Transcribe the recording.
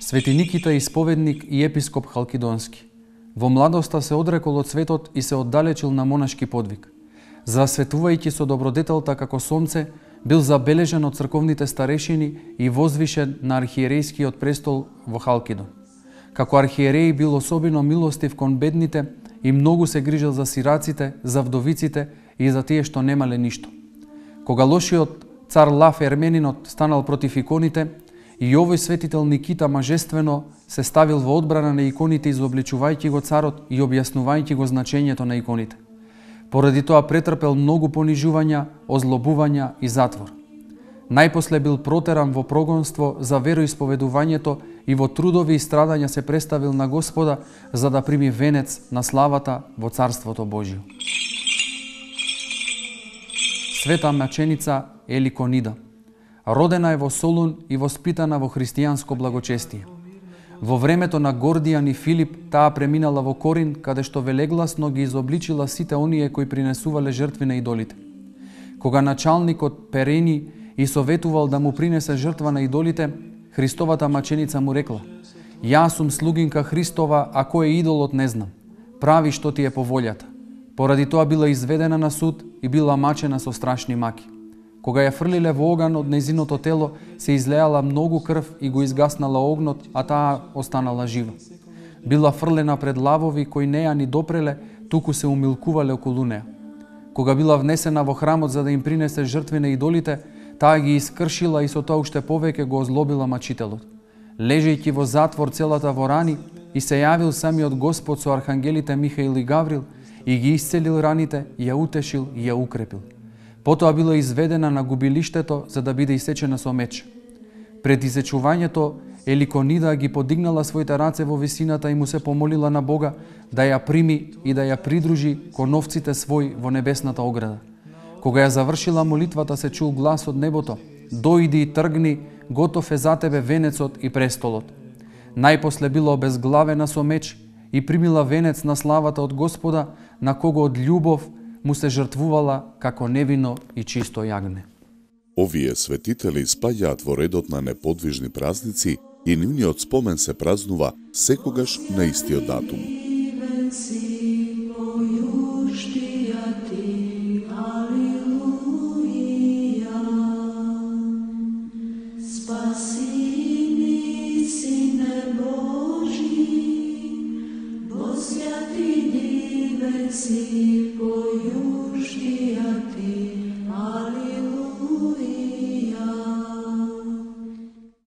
Свети Никита исповедник и епископ Халкидонски. Во младоста се одрекол од светот и се оддалечил на монашки подвиг. Засветувајќи со добродетелта како сонце, бил забележен од црковните старешини и возвишен на архиерејскиот престол во Халкидон. Како архиереј бил особено милостив кон бедните и многу се грижел за сираците, за вдовиците и за тие што немале ништо. Кога лошиот цар Лав Ерменинот станал против иконите, и овој светител Никита мажествено се ставил во одбрана на иконите, изобличувајќи го царот и објаснувајќи го значењето на иконите. Поради тоа претрпел многу понижувања, озлобувања и затвор. Најпосле бил протеран во прогонство за вероисповедувањето и во трудови и страдања се представил на Господа за да прими венец на славата во Царството Божјо. Света маченица Еликонида. Родена е во Солун и воспитана во христијанско благочестие. Во времето на Гордијан и Филип таа преминала во Корин, каде што велегласно ги изобличила сите оние кои принесувале жртви на идолите. Кога началникот Перени и советувал да му принесе жртва на идолите, Христовата маченица му рекла: "Јас сум слугинка Христова, а кој е идолот не знам. Прави што ти е по волјата." Поради тоа била изведена на суд и била мачена со страшни маки. Кога ја фрлиле во оган од незиното тело, се излеала многу крв и го изгаснала огнот, а таа останала жива. Била фрлена пред лавови кои не ја ни допреле, туку се умилкувале околу неа. Кога била внесена во храмот за да им принесе жртви на идолите, таа ги искршила и со тоа уште повеќе го озлобила мачителот. Лежејќи во затвор целата во рани, и се јавил самиот Господ со архангелите Михаил и Гаврил и ги исцелил раните, ја утешил и ја укрепил. Потоа била изведена на губилиштето за да биде исечена со меч. Пред исечувањето Еликонида ги подигнала своите раце во висината и му се помолила на Бога да ја прими и да ја придружи кон овците свој во небесната ограда. Кога ја завршила молитвата, се чул глас од небото: "Дојди и тргни, готов е за тебе венецот и престолот." Најпосле била обезглавена со меч и примила венец на славата од Господа, на кого од љубов му се жртвувала како невино и чисто јагне. Овие светители спаѓаат во редот на неподвижни празници и нивниот спомен се празнува секогаш на истиот датум. Si pojušti a ti